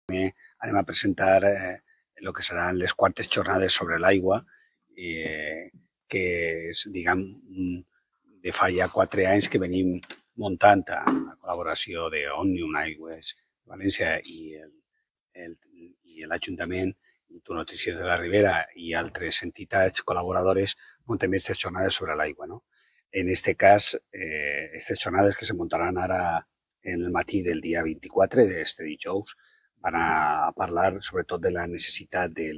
anem a presentar el que seran les quartes jornades sobre l'aigua, que és, diguem, de fa ja 4 anys que venim muntant amb la col·laboració d'Òmnium Aigües València i l'Ajuntament i Tu Notícies de la Ribera i altres entitats col·laboradores muntem aquestes jornades sobre l'aigua, no? En este cas, aquestes jornades que se muntaran ara en el matí del dia 24 d'este dijous van a parlar sobretot de la necessitat de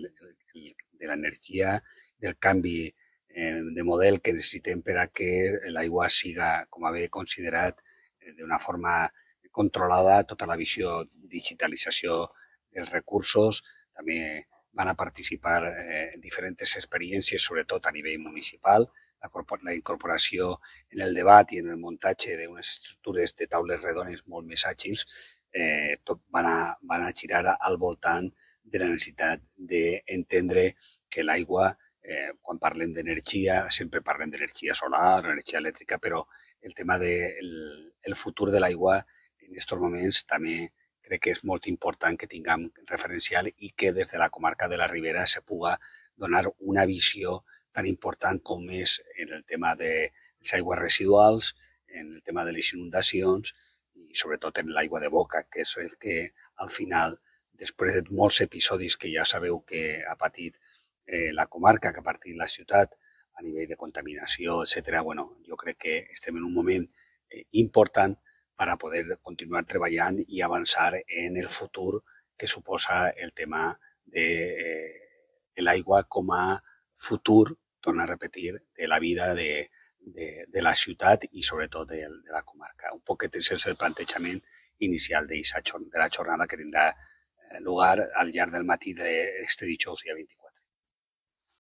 l'energia, del canvi de model que necessitem per a que l'aigua siga, com a bé considerat, d'una forma controlada, tota la visió digitalització dels recursos. També van a participar diferents experiències, sobretot a nivell municipal, la incorporació en el debat i en el muntatge d'unes estructures de taules redones molt més àgils, tot van a girar al voltant de la necessitat d'entendre que l'aigua, quan parlem d'energia, sempre parlem d'energia solar, energia elèctrica, però el tema del futur de l'aigua en aquests moments també crec que és molt important que tinguem referencial i que des de la comarca de la Ribera se puga donar una visió tan important com és en el tema de les aigües residuals, en el tema de les inundacions i sobretot en l'aigua de boca, que és el que al final, després de molts episodis que ja sabeu que ha patit la comarca, que ha patit la ciutat a nivell de contaminació, etc., bueno, jo crec que estem en un moment important per a poder continuar treballant i avançar en el futur que suposa el tema de l'aigua com a futur, torno a repetir, de la vida de la ciutat i sobretot de la comarca. Un poquet és el plantejament inicial de la jornada que tindrà lugar al llarg del matí d'este dijous, dia 24.